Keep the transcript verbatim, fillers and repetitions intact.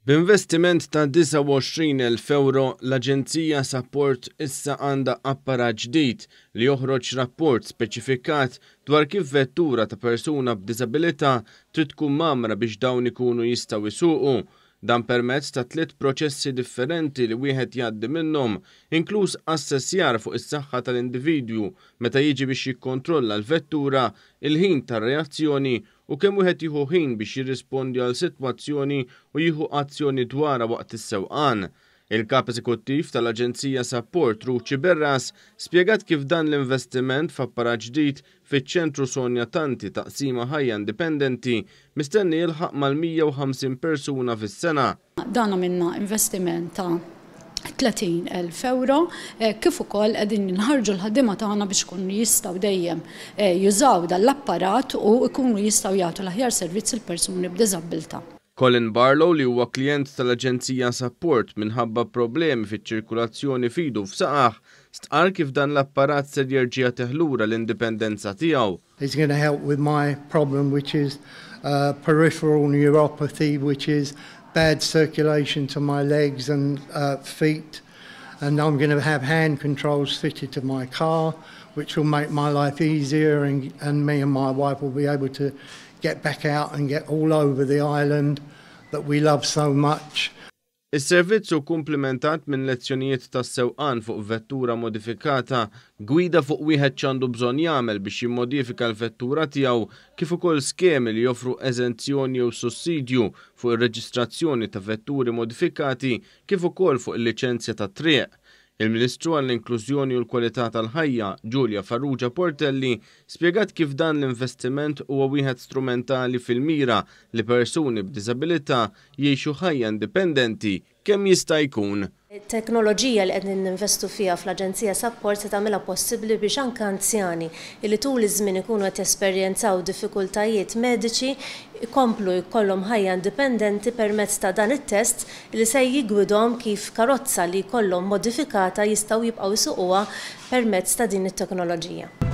B'investiment ta' disgħa u għoxrin elf euro, l-Aġenzija Sapport issa għandha apparat ġdid li joħroġ rapport speċifikat dwar kif vettura ta' persuna b'diżabilità trid tkun mgħammra biex dawn ikunu jistgħu jsuqu. Dan permezz ta' tliet proċessi differenti li wieħed jgħaddi minnhom, inkluż assessjar fuq is-saħħa tal-individwu meta jiġi biex jikkontrolla l-vettura, il-ħin tar-reazzjoni u kemm wieħed jieħu ħin biex jirrispondi għal sitwazzjoni u jieħu azzjoni dwarha waqt is-sewqan. Il-kap eżekuttiv tal-Aġenzija Sapport, Ruth Sciberras, spjegat kif dan l-investiment f'apparat ġdid fiċ-ċentru Sonja Tanti Taqsima Ħajja Indipendenti mistenni jilħaq mal-mija u ħamsin persuna fis-sena. Dan għamilna investiment ta' tletin elf euro, eh, kif ukoll qegħdin nħarġu l-ħaddiema tagħna biex ikunu jistgħu dejjem eh, jużaw dan l-apparat u jkunu jistgħu jagħtu l-aħjar servizz il-persuni b'diżabilità. Colin Barlow, li huwa klient tal-Aġenzija Sapport minħabba problemi fiċ-ċirkulazzjoni f'idu u f'saqajh, stqar kif dan l-apparat ser jerġa' jagħtih lura l-indipendenza tiegħu. It's going to help with my problem, which is uh, peripheral neuropathy, which is bad circulation to my legs and uh, feet. And I'm going to have hand controls fitted to my car, which will make my life easier, and, and me and my wife will be able to get back out and get all over the island that we love so much. Is-servizz hu komplementat minn lezzjonijiet ta' sewqan fuq vettura modifikata, gwida fuq wieħed x'għandu bżonn jagħmel biex jimmodifika l-vettura tiegħu, kif ukoll skemi li joffru eżenzjoni jew sussidju fuq ir-reġistrazzjoni ta' vetturi modifikati kif ukoll fuq il-liċenzja ta' triq. Il-Ministru għall-Inklużjoni u l-Kwalità tal-Ħajja, Julia Farrugia Portelli, spjegat kif dan l-investiment huwa wieħed strumentali fil-mira li persuni b'diżabilità jgħixu ħajja indipendenti kemm jista' jkun. Teknoloġija li qegħdin ninvestu fiha fl-Aġenzija Sapport se tagħmilha possibbli biex anke anzjani li tul iż-żmien ikunu qed jesperjenzaw diffikultajiet mediċi ikomplu jkollhom ħajja indipendenti permezz ta' dan it-test li se jiggwidhom kif karozza li jkollhom modifikata jistgħu jibqgħu jsuquha permezz ta' din it-teknoloġija.